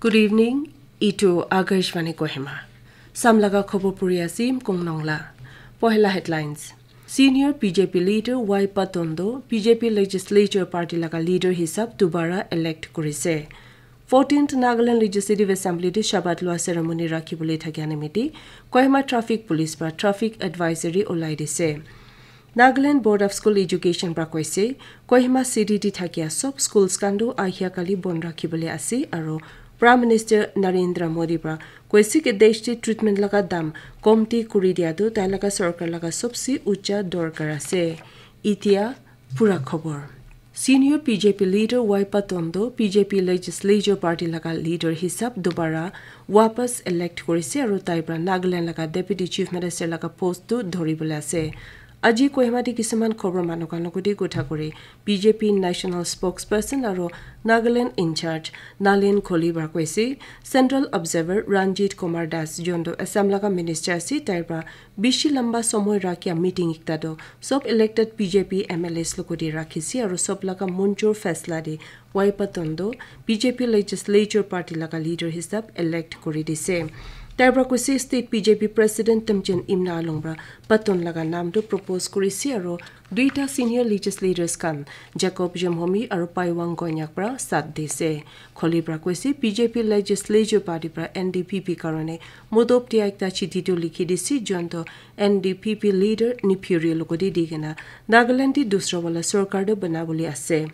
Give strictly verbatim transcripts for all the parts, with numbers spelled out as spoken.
Good evening, itu Akashvani Kohima. Samlaga khobor puri asim kong nongla. Pohela headlines. Senior B J P leader Y Patondo, B J P legislature party laga leader hisab dubara elect kurise. Fourteenth Nagaland Legislative Assembly te shabat lua ceremony rakhibole thakia nimite Kohima Traffic Police para traffic advisory ulai dise. Nagaland Board of School Education para koise, Kohima city te thakia sob schools khan tu ahia kali bon rakhibole ase aru Prime Minister Narendra Modi para koise ke desh te treatment laga dam komti kuri dia tu tai laga sarkar laga sobse ucha dorkar ase. Itia pura khobor. Senior B J P leader Y Patondo B J P legislature party laga leader hisab dubara wapas elect kurise aru tai para Nagaland laga deputy chief minister laga post tu dhoribole ase. Aji Kohima te kisuman khobor manu khan logoti kotha kuri B J P national spokesperson aru Nagaland in charge Nalin Koli para koise, Central Observer Ranjit Kumar Das jonto Assam laga minister ase tai para bishi lamba somoy rakhia meeting ekta tu sob elected B J P M L As logoti rakhise aru sob laga munchur faisla de Y Patondo B J P legislature party laga leader hisab elect kuri dise. Tai para koise state B J P president Temjen Imna Along para Paton laga nam tu propose kurise aru duita senior legislators khan Jacob Jemhomi aru Paiwang Konyak para sat dise. Koli para koise B J P legislature party para N D P P karone mudop dia ekta chiti tu likhi dise jonto N D P P leader Neiphiu Rio logoti di kena Nagaland te dusra wala sarkar tu banabole ase.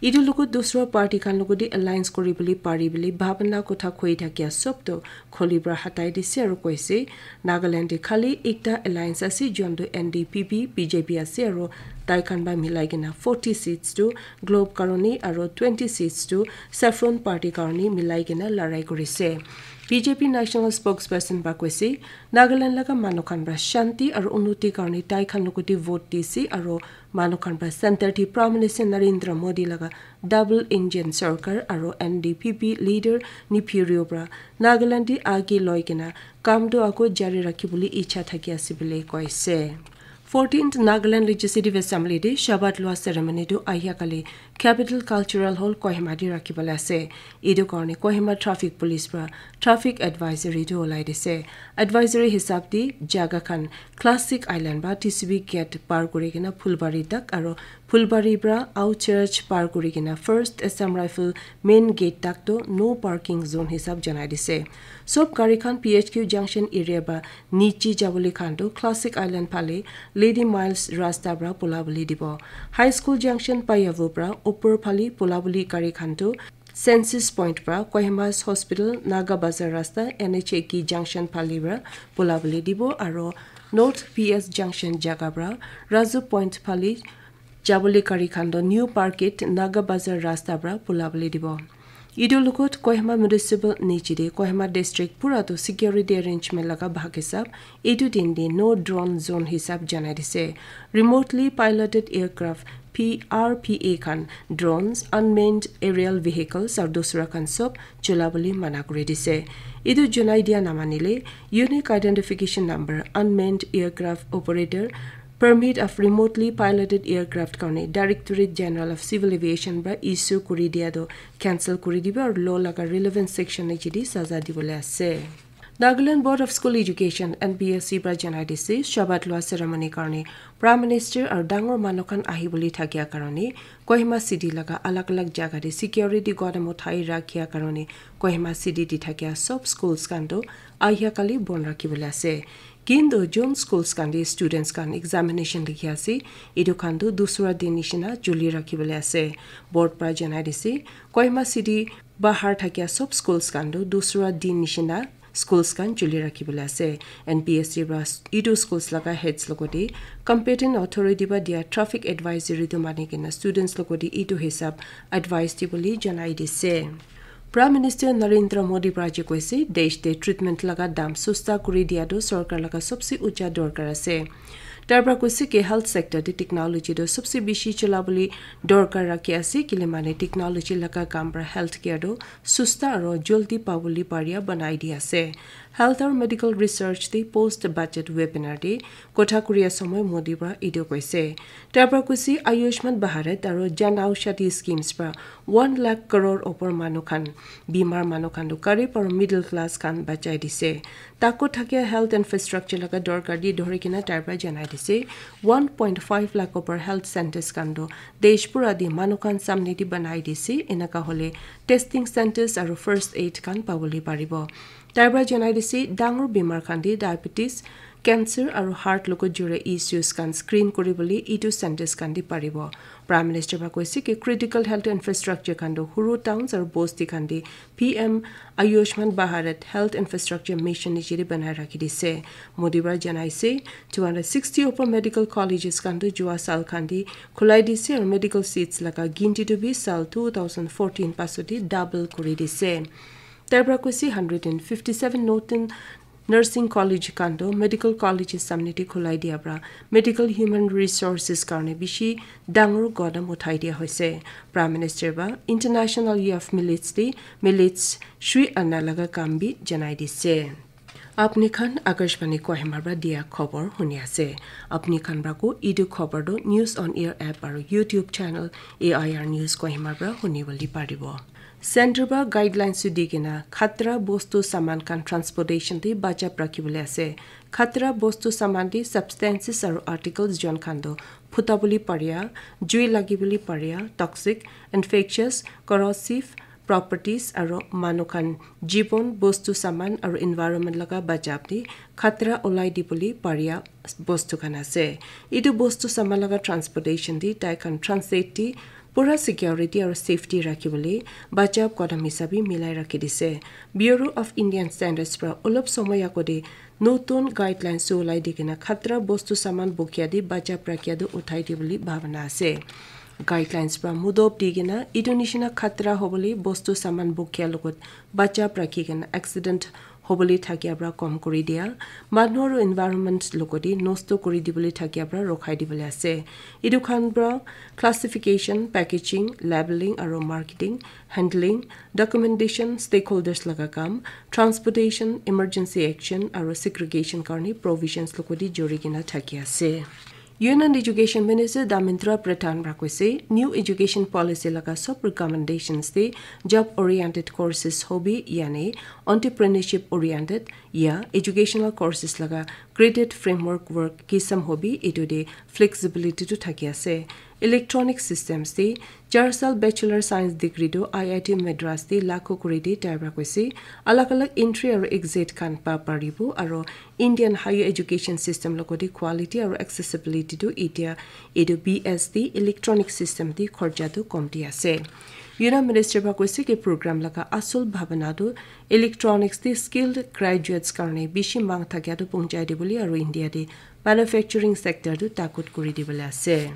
Itu logot dusra party khan logoti alliance kuri bole pari bole bhabana kotha koi thakia sob tu Koli para hatai dise aru koise Nagaland te khali ekta alliance ase jonto N D P P B J P ase aru tai khan para milai kena forty seats tu Globe karone aru twenty seats tu Saffron party karone milai kena larai kurise. B J P national spokesperson para koise Nagaland laga manu khan para shanti aru unnoti karone tai khan logoti vote dise aru manu khan para center te Prime Minister Narendra Modi laga double engine sarkar aru N D P P leader Neiphiu Rio para Nagaland te age loi kena kam tu ako jari rakhibole ichha thaki ase bole koise. Fourteenth Nagaland Legislative Assembly te shabat lua ceremony tu ahia kali Capital Cultural Hall Kohima te rakhibole ase. Itu karone Kohima Traffic Police para traffic advisory tu ulai dise. Advisory hisab te jaga khan Classic Island para T C B gate par kuri kena Phulbari tak aru Phulbari para Out Church par kuri kena First Assam Rifle main gate tak tu no parking zone hisab janai dise. Sob gari khan P H Q junction area para niche jabole khan tu Classic Island phale Lady Miles rasta para pula bole dibo. High School junction Payavu para upor phale pula bole gari khan tu Census Point para Kohima's Hospital Naga Bazar rasta N H A K junction phale para pula bole dibo aru North P S junction jaga para Raju Point phale jabole gari khan tu New Parkit Naga Bazar rasta para pula bole dibo. Itu logot Kohima Municipal niche te Kohima District pura tu security arrangement laga bhag hisab itu din te no drone zone hisab janai dise. Remotely piloted aircraft P R P A khan drones, unmanned aerial vehicles aru dusra khan sob chola bole mana kuri dise. Itu janai dia namanile unique identification number, unmanned aircraft operator permit of remotely piloted aircraft karone Directorate General of Civil Aviation para issue kuri dia tu cancel kuri dibo aru law laga relevant section niche te saza dibole ase. Nagaland Board of School Education, N B S E para janai dise shabat lua ceremony karone Prime Minister aru dangor manu khan ahibole thakia karone Kohima city laga alag alag jaga te security godam uthai rakhia karone Kohima city te thakia sob schools khan tu ahia kali bon rakhibole ase. Kintu jun schools khan te students khan examination likhi ase, itu khan tu dusra din nishina chuli rakhibole ase. Board para janai dise Kohima city bahar thakia sob schools khan tu dusra din nishina schools khan chuli rakhibole ase. N B S E para itu schools laga heads logote competent authority para dia traffic advisory tu mani kena students logote itu hisab advice dibole janai dise. Prime Minister Narendra Modi para je koise, desh te treatment laga dam susta kuri dia tu sarkar laga sobse ucha dorkar ase. Tar pra koise ki health sector te technology tu sabse bishi chala bole dorkar rakhi ase, kile mane technology laga kam pra health care tu susta aro joldi pabole paria banai di ase. Health aro medical research te post budget webinar te kotha kuria samay Modi pra etu koise. Tar pra koise Ayushman Bharat aro Jan Aushadhi schemes pra one lakh crore opor manu khan, bimar manu khan tu garib aro middle class khan bachai dise. Taku thakia health infrastructure laga dorkar di dhori kena tar pra janai dise. One point five lakh opor health centers khan tu desh pura di manu khan samne di banai dise. Enaka hole testing centers aro first aid khan pabole paribo. Tar pra janai dise dangor bimar khan di diabetes, cancer aro heart logo jure issues khan screen kuri bole etu centers khan di paribo. Prime Minister pra koise ki critical health infrastructure khan tu huru towns aro bosti khan di P M Ayushman Bharat Health Infrastructure Mission niche te banai rakhi dise. Modi pra janai se two hundred sixty opor medical colleges khan tu jua sal khan di khulai dise aro medical seats laga ginti tu bi sal two thousand fourteen paso di double kuri dise. Tar pra koise hundred and fifty seven northern nursing college khan tu medical colleges samne te khulai dia pra medical human resources karne bishi dangor qadam uthai dia hoise. Prime Minister pra International Year of Millets te millets shui ana laga kam bi janai dise. Apni khan Akashvani Kohima pra dia khobor huni ase. Apni khan pra ko etu khobor tu News on Air app aro YouTube channel A I R News Kohima pra huni bole paribo. Center pra guidelines tu di kena khatra bostu saman khan transportation te bachap rakhi bole ase. Khatra bostu saman te substances aro articles jon khan tu phuta bole paria, jui lagi bole paria, toxic, infectious, corrosive properties aro manu khan jibon, bostu saman aro environment laga bachap te khatra ulai di bole paria bostu khan ase. Etu bostu saman laga transportation te tai khan transit te pura security aro safety rakhi bole bachap qadam hisabe milai rakhi dise. Bureau of Indian Standards pra olop samay ago te notun guidelines tu ulai di kena khatra bostu saman bukia te bachap rakhia tu uthai di bole bhabana ase. Guidelines pra mudob di kena etu nishina khatra hobole bostu saman bukia logot bachap rakhi kena accident hobole thakia pra kom kuri dia, manu aro environment logot te nosto kuri di bole thakia pra rokhai di bole ase. Etu khan pra classification, packaging, labeling aro marketing, handling, documentation, stakeholders laga kam, transportation, emergency action aro segregation karne provisions logot te jori kena thaki ase. Union Education Minister Dharmendra Pradhan pra koise, new education policy laga sob recommendations te job oriented courses hobi yani entrepreneurship oriented ya educational courses laga graded framework work kisam hobi etu te flexibility tu thaki ase. Electronic systems te char sal bachelor science degree tu I I T Madras te lagu kuri di tai pra koise. Alag alag entry aro exit khan pa paribo aro Indian higher education system logot te quality aro accessibility tu etia etu B S te electronic system te khorcha tu komti ase. Union Minister pra koise ki program laga asul bhabana tu electronics te skilled graduates karne bishi mang thakia tu punchai di bole aro India te manufacturing sector tu takut kuri di bole ase.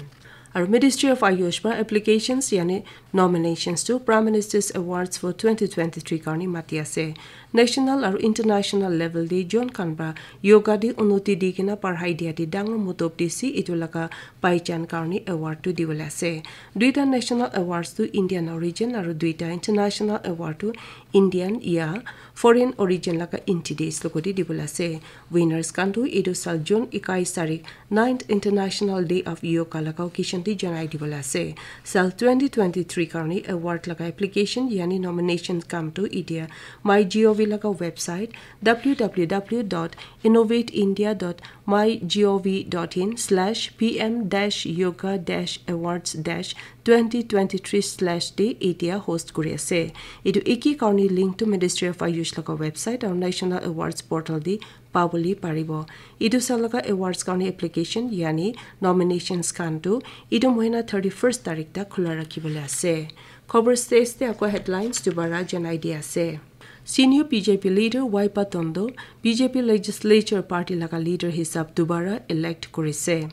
Aro Ministry of Ayush pra applications yani nominations tu Prime Minister's Awards for twenty twenty-three karne mati ase. National aro international level te jon khan pra yoga te unnoti di kena parhai dia te dangor mudob dise etu laga paichan karne award tu di bole ase. Duita national awards tu Indian origin aro duita international award tu Indian ya foreign origin laga entities logot te di bole ase. Winners khan tu etu sal June ikai tarik ninth International Day of Yoga laga occasion te janai di bole ase. Sal twenty twenty-three karne award laga application yani nomination kam tu etia MyGov laga website W W W dot innovate india dot mygov dot in slash P M dash yoga dash awards dash twenty twenty-three slash te etia host kuri ase. Etu eki karne link tu Ministry of Ayush laga website aro National Awards portal te pabole paribo. Etu sal laga awards karne application yani nominations khan tu etu mohina thirty-first tarik tak khula rakhi bole ase. Khobor stage te ako headlines dubara janai di ase. Senior B J P leader Waipa Tondo B J P legislature party laga leader hisab dubara elect kurise.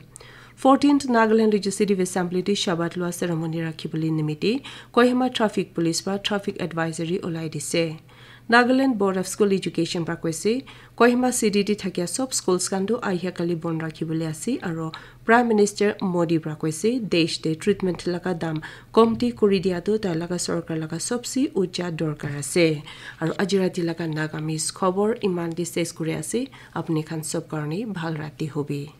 Fourteenth Nagaland Legislative Assembly te shabat lua ceremony rakhi bole nimite Kohima Traffic Police pra traffic advisory ulai dise. Nagaland Board of School Education pra koise, Kohima city te thakia sob schools khan tu ahia kali bon rakhibole ase, aro Prime Minister Modi pra koise, desh te treatment laga dam komti kuri dia tu tai laga sorkar laga sobse ucha dorkar ase. Aro aji rati laga Nagamese khobor iman te ses kuri ase. Apni khan sob karne bhal rati hobi.